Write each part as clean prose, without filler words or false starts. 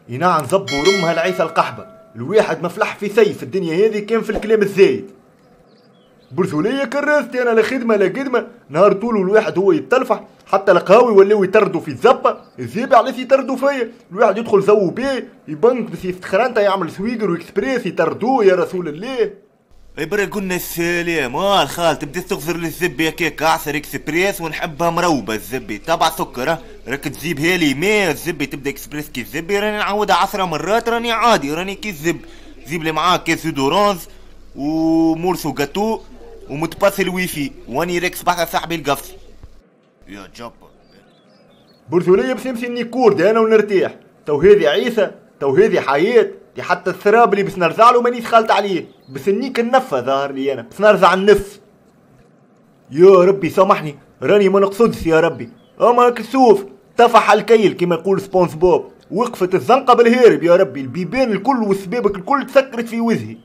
ينعن زب ورمها العيسى القحبه، الواحد ما فلح في سيف الدنيا هذه كان في الكلام الزايد. برثولية كرستي انا لا خدمة لا قدمه، نهار طول الواحد هو يتلفح، حتى القهاوي ولاو يطردوا في الزبه، الزيبه علاش يطردوا فيا؟ الواحد يدخل زو بيه يبنك بس يفتخرانتا يعمل سويقر واكسبريس يطردوه يا رسول الله. اي برا قلنا السلام، الخال تبدا تغزر للزبي هكاك اعصر اكسبريس ونحبها مروبه الزبي تبع سكر، راك تجيبها لي ما الزبي تبدا اكسبريس كي الزبي راني نعاودها 10 مرات راني عادي راني كي الزب. جيب لي معاك كاس d'orange و morceau gâteau و mot de passe الويفي واني راكس بحث صاحبي القفصي يا جبر. برثولية باش نمشي نيكورد انا ونرتاح، تو هذه عيسى تو هذه حياة، دي حتى الثراب اللي باش نرزع له مانيش خالط عليه، بس نيك النفة ظاهر لي انا باش نرزع النف. يا ربي سامحني راني ما نقصدش يا ربي، اما كسوف طفح الكيل كما يقول سبونس بوب، وقفت الزنقة بالهارب يا ربي، البيبان الكل والسبابك الكل تسكرت في وجهي.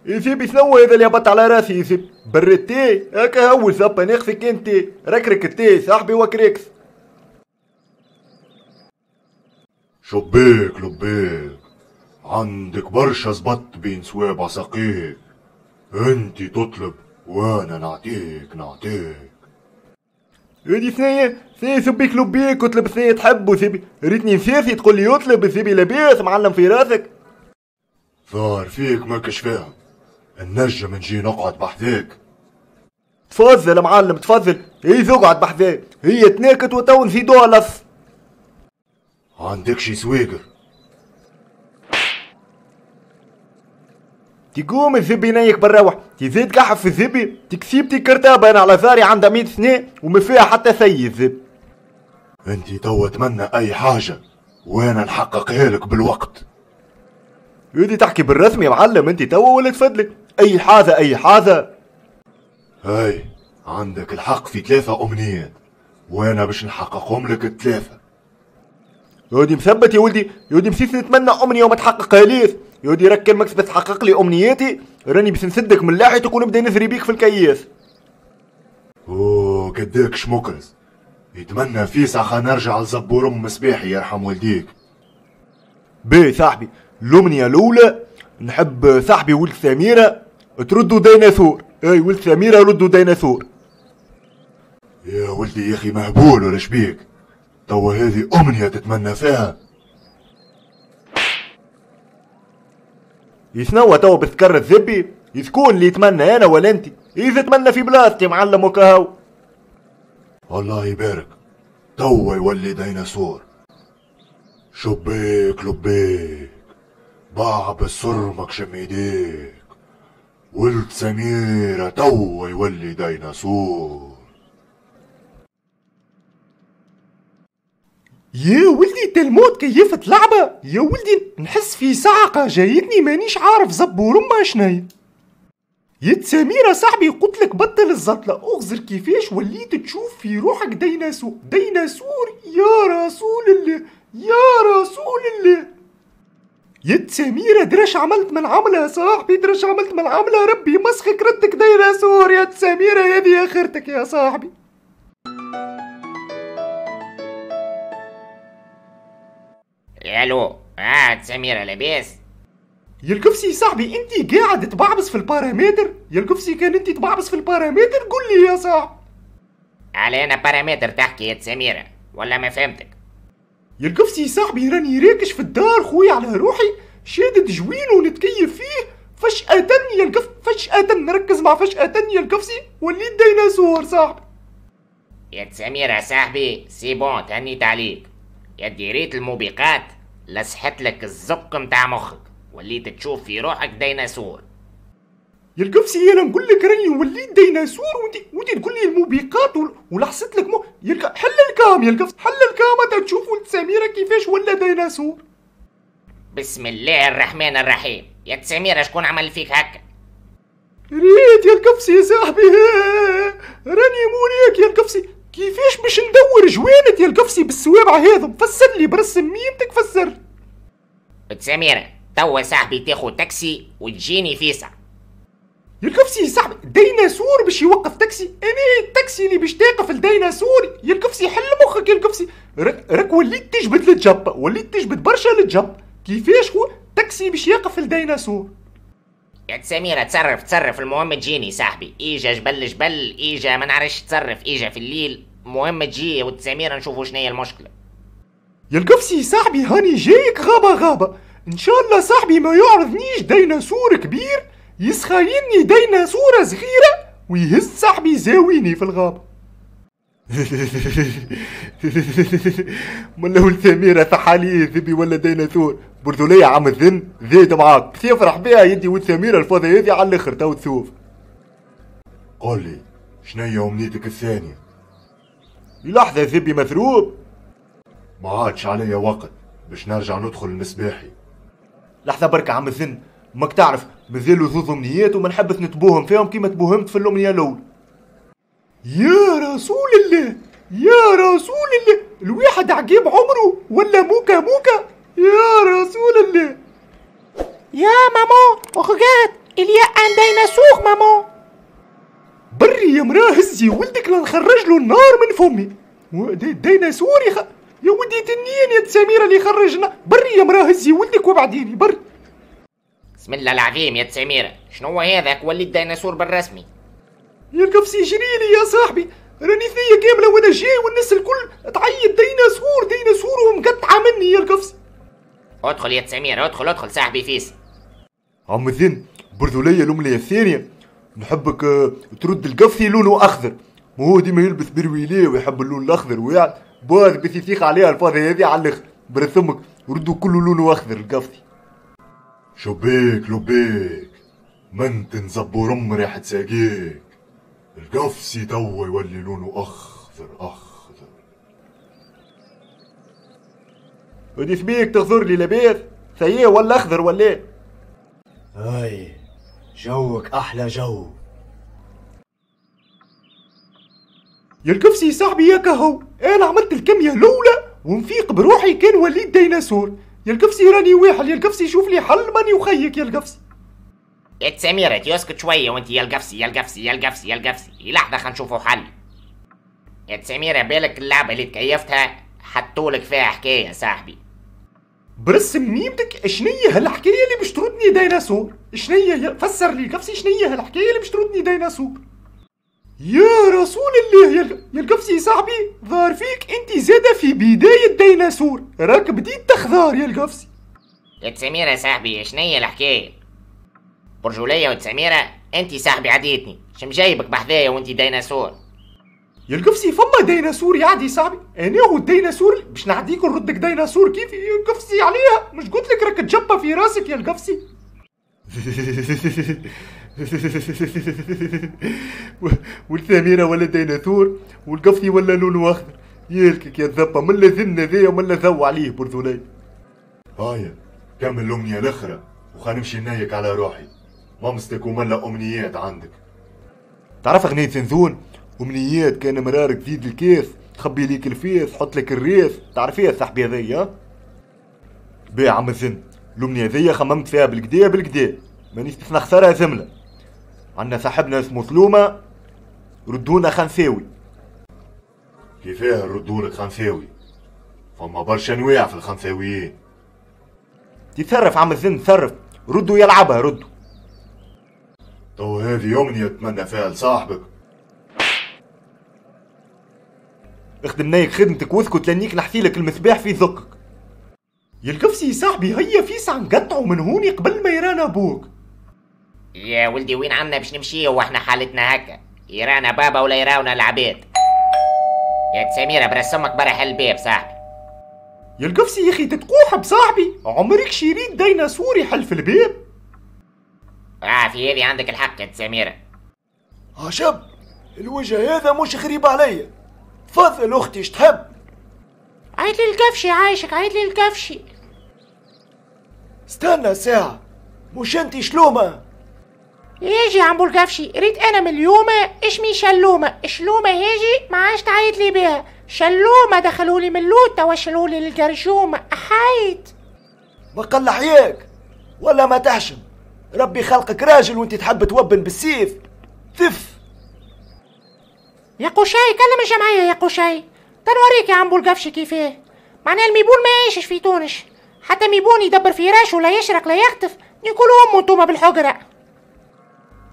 يسيب شنو هذا اللي هبط على راسي؟ يسيب برتي هكا هو زبا ناقصك انت، ركرك التي صاحبي وكريكس. شبيك لبيك عندك برشا زبط بين صوابع ساقيك، انت تطلب وانا نعطيك نعطيك. هادي ثنية ثنية شبيك لبيك وطلب ثنية تحب وسيبي ريتني نسيرتي تقول لي اطلب سيبي لاباس معلم في راسك. ظاهر فيك ماكش فاهم، النجم نجي نقعد بحذاك. تفضل يا معلم تفضل، هي اقعد بحذاك، هي تناكت وتو نزيدوها لص. عندك شي سويقر؟ تقوم الزبي نايك بالروح، تزيد قحف في الزبي، تكسيبتي كرتابة انا على ثاري عندها 100 سنة وما فيها حتى سي الزب. انت توا تمنى اي حاجة وانا نحققها لك بالوقت. يدي تحكي بالرسم يا معلم انت توا ولا تفضلك؟ اي حاجة اي حاجة. هاي عندك الحق في 3 امنيات وانا باش نحققهم لك ال3. يودي مثبت يا ولدي، يودي مسيس نتمنى امنية وما تحققها ليش؟ يودي راك كان ماكش باش تحقق لي امنياتي راني باش نسدك من لاحيتك ونبدا نزري بيك في الكياس. اوه قداكش مكرز، يتمنى فيسع خا نرجع لزبور ام صباحي يرحم والديك. باهي صاحبي، الأمنية الأولى نحب صاحبي ولد سميرة تردو ديناصور، اي ولد سميرة ردو ديناصور. يا ولدي يا أخي مهبول ولا شبيك؟ توا هذه أمنية تتمنى فيها؟ يسنوا توا بتكرر الزبي؟ يسكون اللي يتمنى أنا ولا أنت؟ إذا تمنى في بلاصتي معلم وكهو. الله يبارك، توا يولي ديناصور. شبيك لبيك باع بالصرمك شم ايديك، ولد سميرة توا يولي ديناصور. يا ولدي تلموت كيفت لعبة يا ولدي، نحس في صعقة جايتني مانيش عارف زبور ما شنايا. يا سميرة صاحبي قلتلك بطل الزطلة، اغزر كيفاش وليت تشوف في روحك ديناصور ديناصور يا رسول الله يا رسول الله. يا سميرة درش عملت من عملة يا صاحبي، درش عملت من عملة، ربي مسخك ردك ديناصور يا سميرة، هذه اخرتك يا صاحبي. الو سميرة لاباس؟ يا القفصي صاحبي انت قاعد تبعبس في البارامتر؟ يا القفصي كان انت تبعبس في البارامتر قول لي يا صاحبي. على انا بارامتر تحكي يا سميرة ولا ما فهمتك؟ يا القفصي صاحبي راني راكش في الدار خويا على روحي شادد جوين ونتكيف فيه، فجأة يا القف فجأة نركز مع فجأة يا القفصي وليت ديناصور صاحبي. يا سميرة صاحبي c'est bon تهنيت عليك، يا ديريت الموبقات لسحت لك الزق متاع مخك وليت تشوف في روحك ديناصور. يا القفصي انا نقول لك راني وليت ديناصور وانت تقول لي الموبقات ولحست لك حل ال cam يا القفص، حل ال cam تشوف ولد سميرة كيفاش ولا ديناصور. بسم الله الرحمن الرحيم، يا سميرة شكون عمل فيك هكا؟ ريت يا القفصي يا صاحبي راني موريك يا القفصي كيفاش باش ندور جوانت يا القفصي بالسوابع هذم، فسر لي برسم ميمتك فسر. سميرة توا صاحبي تاخو تاكسي وتجيني فيسع. يا القفصي صاحبي ديناصور باش يوقف تاكسي؟ انا التاكسي اللي باش تاقف الديناصور يا القفصي. حل مخك يا القفصي، راك وليت تجبد للجبه، وليت تجبد برشا للجب. كيفاش هو تاكسي باش يقف الديناصور؟ يا سميرة تصرف تصرف، المهم تجيني صاحبي. ايجا جبل جبل، ايجا ما نعرفش تصرف، ايجا في الليل، المهم تجي وتسميرة نشوفوا شنو هي المشكلة. يا القفصي صاحبي هاني جايك غابة غابة، ان شاء الله صاحبي ما يعرضنيش ديناصور كبير يسخايني ديناصورة صغيرة ويهز صاحبي زاويني في الغابة. ملا ولد سميرة ثحالي ذبي ولا ديناصور برذولية عم الذن زيد معاك بس يفرح بيها يدي ولد سميرة الفاضي هذي على الاخر تو تشوف. قول لي شنيا امنيتك الثانية؟ لحظة ذبي مثروب، ما عادش عليا وقت باش نرجع ندخل المصباحي. لحظة بركة عم الذن، ماك تعرف مازالوا زوز امنيات وما نحبش نتبوهم فيهم كيما تبوهمت في الامنية الاولى. يا رسول الله يا رسول الله، الواحد عجيب عمره ولا موكا موكا. يا رسول الله. يا maman regarde il y a un dinosaure maman. بري يا مراة هزي ولدك لنخرج له النار من فمي. ديناصور يا ودي تنين يا سميرة اللي خرجنا. بري يا مراة هزي ولدك وبعديني بري. بسم الله العظيم يا سميرة، شنو هذاك وليت ديناصور بالرسمي؟ يا القفصي جريلي يا صاحبي، راني ثنية كاملة وانا جاي والناس الكل تعيط ديناصور ديناصور ومقطعة مني يا القفصي. ادخل يا سميرة ادخل ادخل صاحبي فيس. عم الذن برذولية الأمنية الثانية نحبك ترد القفصي لونه أخضر، ما هو ديما يلبس برويليه ويحب اللون الأخضر ويعني باز باش يثيق عليها الفاضي هذه على الآخر. برسمك ردوا كله لونه أخضر القفصي. شبيك لبيك من تنزبور ام ريحة ساقيك، القفصي توا يولي لونه اخضر اخضر. ودي سبيك تغزر لي لاباس سيء ولا اخضر ولا ايه؟ هاي جوك احلى جو يا القفصي صاحبي. يا كهو انا عملت الكمية الاولى ونفيق بروحي كان وليت ديناصور. يا القفصي راني واحل يا القفصي، شوف لي حل ماني وخيك يا القفصي. يا سميرة يسكت شوية وانت يا القفصي يا القفصي يا القفصي يا القفصي، لحظة خلينا نشوفوا حل. يا سميرة بالك اللعبة اللي تكيفتها حطولك فيها حكاية صاحبي. برسم ميمتك شنية هالحكاية اللي باش تردني ديناصور؟ شنية فسر لي القفصي شنية هالحكاية اللي باش تردني ديناصور؟ يا رسول الله يا القفصي صاحبي ظهر فيك انت زادة في بداية ديناصور، راك بديت تخضار يا القفصي. يا سميرة صاحبي شنية الحكاية؟ برجولية وتسميرة انت صاحبي عديتني، شم جايبك بحذايا وانت ديناصور؟ يا القفصي فما ديناصور يعدي صاحبي، انا هو الديناصور باش نعديك ونردك ديناصور كيف يا القفصي عليها؟ مش قلت لك راك تجبى في راسك يا القفصي. والثميرة ولا ديناصور والقفصي ولا لونه اخضر. يالكك يا الذبة من لا ذن ذي ومن لا ذو عليه برذولي. هايا كمل الامنية الاخرى وخلينا نمشي نايك على روحي. مامستك وملا امنيات عندك. تعرف اغنية زنزون؟ امنيات كان مرارك زيد الكيس خبي ليك الفيس حط لك الريس، تعرفيها صاحبي هذيا؟ بيه عم الزن الامنية هذيا خممت فيها بالكدا بالكدا مانيش باش نخسرها زملة. عندنا صاحبنا اسمه سلومة ردونا خنساوي. كيفاه نردولك خنساوي؟ فما برشا انواع في الخنساويين. تتصرف عم الزن تصرف، ردوا يلعبها ردوا. تو هذه امنية تمنى فيها لصاحبك. اخدم نايك خدمتك واسكت لانيك نحكي لك المصباح في ذكك. يا القفصي صاحبي هيا فيسع نقطعوا من هوني قبل ما يرانا ابوك. يا ولدي وين عنا باش نمشي واحنا حالتنا هكا؟ يرانا بابا ولا يراونا العباد؟ يا سميرة برسمك برا حل الباب صاحبي. يا القفصي يا اخي تتقوح بصاحبي، عمرك شريت ديناصور يحل في الباب؟ في هذه عندك الحق يا سميرة. عجب الوجه هذا مش غريب عليا. تفضل اختي اش تحب؟ عيط لي القفشي عايشك، عيط لي القفشي. استنى ساعة، مش انتي شلومة؟ يجي عمبو القفشي، ريت انا من اليوم اشمي شلومة، شلومة هيجي ما عادش تعيط لي بيها، شلومة دخلولي من اللوتة وشلولي للجرجومة، احيت. ما قل حياك ولا ما تحشم، ربي خلقك راجل وانت تحب توبن بالسيف. ثف. يا قشاي كلم الجمعية يا قشاي، تنوريك يا عم بولقفشي كيفاه. معناها الميبون ما يعيشش في تونس، حتى ميبون يدبر في راشه لا يشرق لا يخطف، نيكولوا امو انتوما بالحجرة.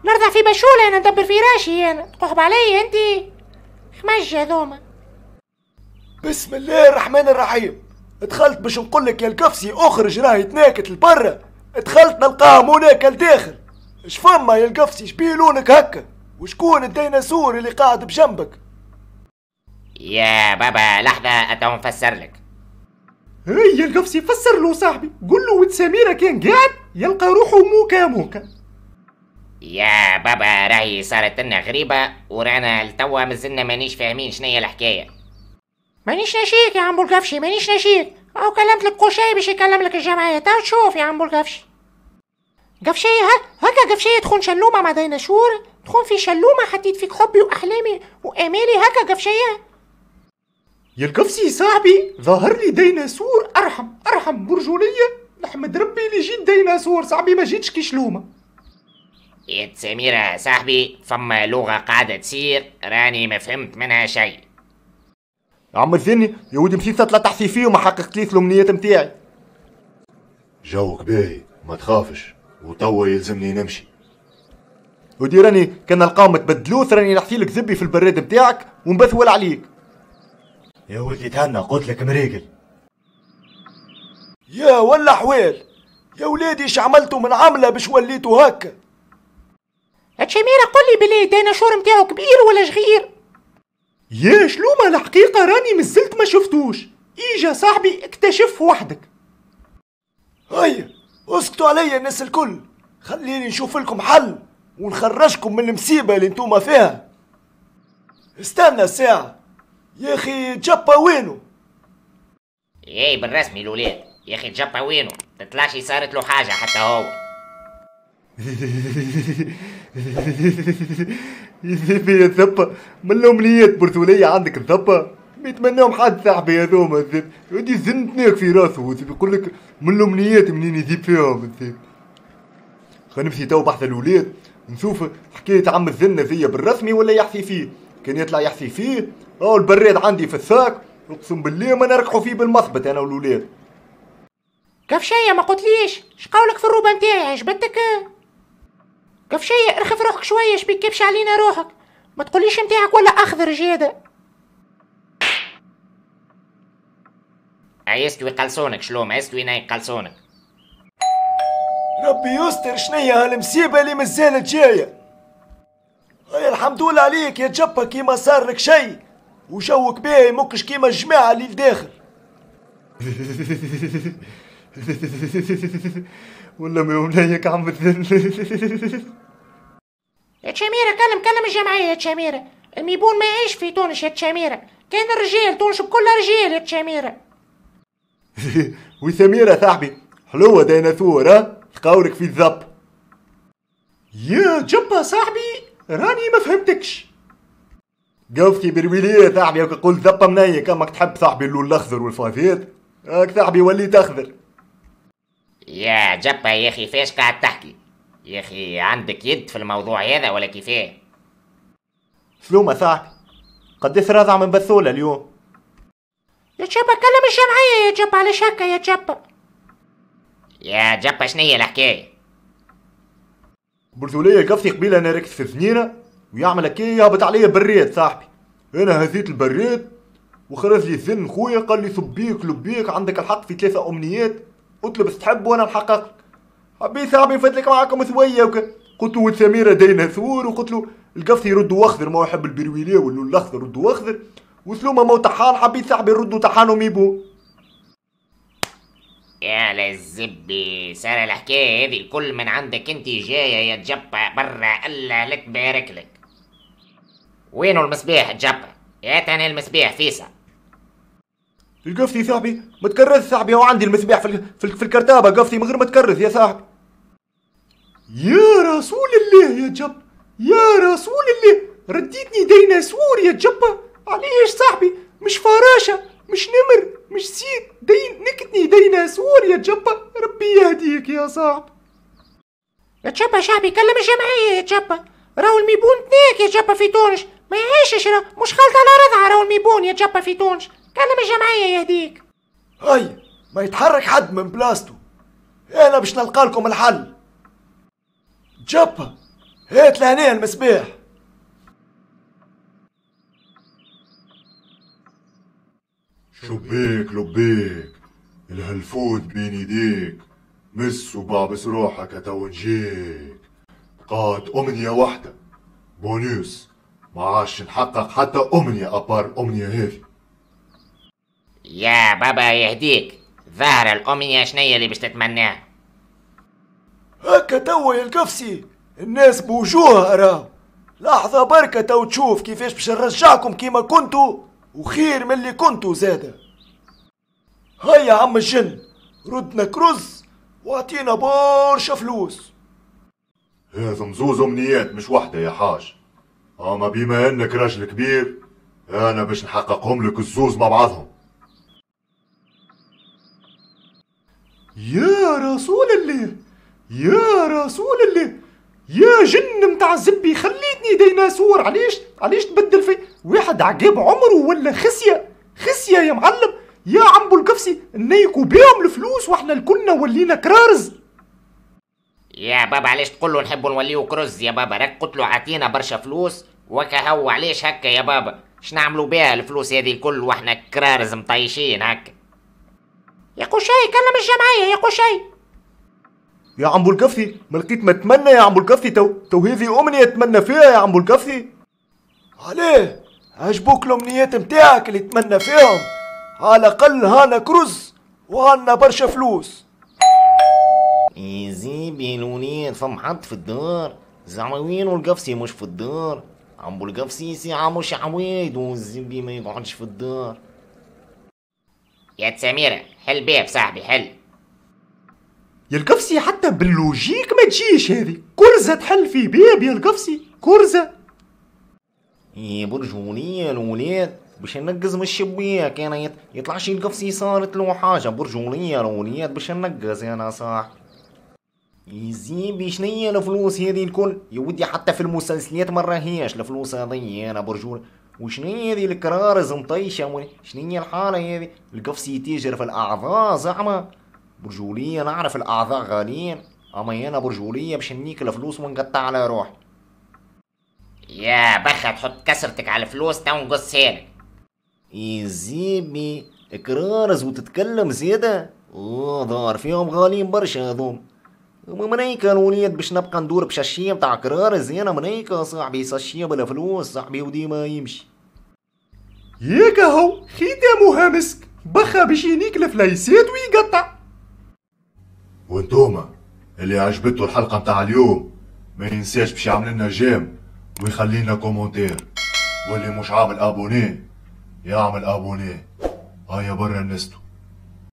نرضع في بشولة انا ندبر في راشي انا، تقحب عليا انتي خمج هذوما. بسم الله الرحمن الرحيم. دخلت باش نقول لك يا القفصي اخرج راهي تناكت لبرا، دخلت نلقاها مناكه لداخل. اش فما يا القفصي؟ شبيه لونك هكا؟ وشكون الديناصور اللي قاعد بجنبك؟ يا بابا لحظة اتو نفسر لك. هيا القفصي فسر له صاحبي، قول له ود سميرة كان قاعد يلقى روحه موكا موكا. يا بابا راهي صارت لنا غريبة ورانا لتوا مازلنا مانيش فاهمين شنيا الحكاية. مانيش ناشيك يا عم بولقفشي، مانيش ناشيك، او كلمت لك قشاي باش يكلم لك الجمعية، تو تشوف يا عم بولقفشي. قفشية هكا قفشية تخون شلومة مع ديناصور، تخون في شلومة حطيت فيك حبي وأحلامي وآمالي، هكا قفشية. يا القفصي صاحبي ظهر لي ديناصور أرحم أرحم برجولية، نحمد ربي اللي جيت ديناصور صاحبي ما جيتش كي شلومة. يا سميرة صاحبي فما لغة قاعدة تصير راني ما فهمت منها شيء. عم الزني يا ودي مشيت طلعت تحسي فيه وما حققتليش الأمنيات نتاعي. جوك باهي ما تخافش، وتوا يلزمني نمشي. ودي راني كان نلقاهم تبدلوث راني نحكي لك زبي في البراد نتاعك ونبثول عليك. يا ولدي تهنى قلت لك مريقل. يا ولا حوال يا ولادي، اش عملتوا من عمله باش وليتوا هكا؟ شميرة قل لي بلي الديناصور نتاعو كبير ولا صغير؟ يا شلومة الحقيقة راني مازلت ما شفتوش، ايجا صاحبي اكتشف وحدك. هيا اسكتوا عليا الناس الكل، خليني نشوف لكم حل ونخرجكم من المصيبة اللي انتوما فيها. استنى ساعة يا اخي، جبا وينو؟ ايه بالرسمي الولاد يا اخي جبا وينو؟ تطلعش صارت له حاجة حتى هو. يا الذبة من الأمنيات برتولية عندك الذبة ما يتمناهم حد صاحبي هذوما الذب، ودي زنتناك في راسه يقول لك من الأمنيات منين يذيب فيهم الذب. خلينا نمشي تو بحث الولاد نشوف حكاية عم الزنة ذي بالرسمي ولا يحثي فيه. كان يطلع يحثي فيه أو البراد عندي في الساك اقسم بالله ما نركحوا فيه بالمثبت أنا والولاد. قفشية ما قلتليش شقولك في الروبة نتاعي عجبتك؟ قفشية ارخف روحك شوية، شبيك كبش علينا روحك، ما تقوليش نتاعك ولا اخضر جيادة. عيستوي قلصونك شلوم، عيستوي ناي قلصونك. ربي يستر شنيا هالمصيبة اللي مازالت جاية. هيا الحمد لله عليك يا جبا كيما صار لك شي وجوك باهي مكش كيما الجماعة اللي لداخل. ولا ما يومنيك عم الذل. يا تشاميرة كلم كلم الجمعية يا تشاميرة، الميبون ما يعيش في تونس يا تشاميرة، كان الرجال تونس بكل رجال يا تشاميرة. وسميرة صاحبي حلوة ديناصور ها تقاولك في الذب. يا جبا صاحبي راني ما فهمتكش. قفتي بالويلية صاحبي قول ذبة منيك امك تحب صاحبي اللون الاخضر والفافيت هاك صاحبي وليت اخضر. يا جبا يا اخي فاش قاعد تحكي يا اخي؟ عندك يد في الموضوع هذا ولا كيفاه؟ سلومة صاحبي قديش راضع من بثولة اليوم؟ يا جبا كلم الجمعية يا جبا، علاش هكا يا جبا؟ يا جبا شنية الحكاية؟ برجولية قفتي قبيلة انا ركت في ثنينة ويعمل هكا يهبط عليا بريد صاحبي، انا هزيت البريد وخرج لي الذن خويا قال لي صبيك لبيك عندك الحق في 3 امنيات اطلب تحب وانا نحقق لك. حبيت صاحبي نفدلك معاكم شوية قلت له ولد سميرة ديناصور، وقلت له القفص يردوا اخضر ما هو يحب البرويليه واللون الاخضر ردوا اخضر، وسلومه مو طحان حبيت صاحبي يردوا طحان وميبو. يا للزبي صار الحكاية هذه الكل من عندك انت جاية يا جبا برا، الله لا تبارك لك. وينو المصباح جبا؟ هات انا المصباح فيسع. القفتي صاحبي ما تكرز صاحبي، هو عندي المصباح في الكرتابه قفتي من غير ما تكرز يا صاحبي. يا رسول الله يا جب، يا رسول الله رديتني ديناصور يا جبا، علاش صاحبي؟ مش فراشة مش نمر مش سيد، دين نكتني ديناصور يا جبا، ربي يهديك يا صاحبي. يا جبا شعبي كلم الجمعية يا جبا، راهو الميبون تناك يا جبا في تونس، ما يعيشش، مش خالط على رضعه راهو الميبون يا جبا في تونس. كلم الجمعية يهديك. هاي ما يتحرك حد من بلاصتو، انا باش نلقى لكم الحل. جبا هات لهنا المصباح. شبيك لبيك الهلفوت بين يديك، مس وبعبس روحك تو نجيك. بقات أمنية واحدة بونوس، ما عادش نحقق حتى أمنية à part الأمنية هذه. يا بابا يهديك، ظاهرة الأمنية شنية اللي باش تتمناها؟ هكا توا يا القفصي الناس بوجوهها راه. لحظة بركة تو تشوف كيفاش باش نرجعكم كيما كنتو وخير من اللي كنتو زادة. هيا عم الجن ردنا كرز واعطينا برشا فلوس. هذا مزوز أمنيات مش واحدة يا حاج، أما بما إنك راجل كبير أنا باش نحققهم لك الزوز مع بعضهم. يا رسول الله يا رسول الله، يا جن متاع زبي خليتني ديناصور. علاش تبدل في واحد عقاب عمره ولا خسية خسية يا معلم؟ يا عم القفصي نيكو بيهم الفلوس واحنا الكلنا ولينا كرارز. يا بابا علاش تقول له نحبوا نوليو كرز يا بابا؟ راك قلت له عطينا برشا فلوس وكهو، علاش هكا يا بابا؟ شنعملوا بها الفلوس هذه الكل واحنا كرارز مطيشين هكا؟ يا قشي كلم الجمعية يا قشي. يا عم القفصي ما لقيت ما اتمنى يا عم القفصي. تو هذه امنية اتمنى فيها يا عم القفصي. عليه عجبوك الامنيات متاعك اللي تمنى فيهم؟ على الاقل هانا كرز وهانا برشا فلوس. يزيبي الوليد فم حد في الدار زعما وينو القفصي مش في الدار؟ عمو القفصي ساعة مش عويد والزبي ما يقعدش في الدار. يا سميرة حل باب صاحبي حل. يا القفصي حتى بال logique ما تجيش هذه، كرزة تحل في باب يا القفصي كرزة. يا برجولية الولاد باش ننقز من الشباك انا، يطلعش القفصي صارت له حاجة. برجولية الولاد باش ننقز انا صاح. يزيبي شنيا الفلوس هذه الكل يا ودي، حتى في المسلسلات ما راهيش الفلوس هذه انا برجول. وشنيا هذه الكرارز مطيشة، شنيا الحالة هذه؟ القفصي تاجر في الأعضاء زعما. برجولية نعرف الأعضاء غاليين، أما أنا برجولية باش نيك الفلوس ونقطع على روحي. يا بخا تحط كسرتك على الفلوس تو نقصها لك. يزيبي كرارز وتتكلم زيادة؟ ظهر فيهم غاليين برشا هذوم. منيكا الوليد باش نبقى ندور بشاشية متاع كرارز أنا منيكا صاحبي، sachet بلا فلوس صاحبي وديما يمشي. ياك هو ختامها مسك، بخا باش ينيك الفليسات ويقطع. وانتوما اللي عجبته الحلقة متاع اليوم ما ينساش باش يعمل لنا j'aime ويخلينا commentaire، واللي مش عامل abonné يعمل abonné. هيا برا نستو.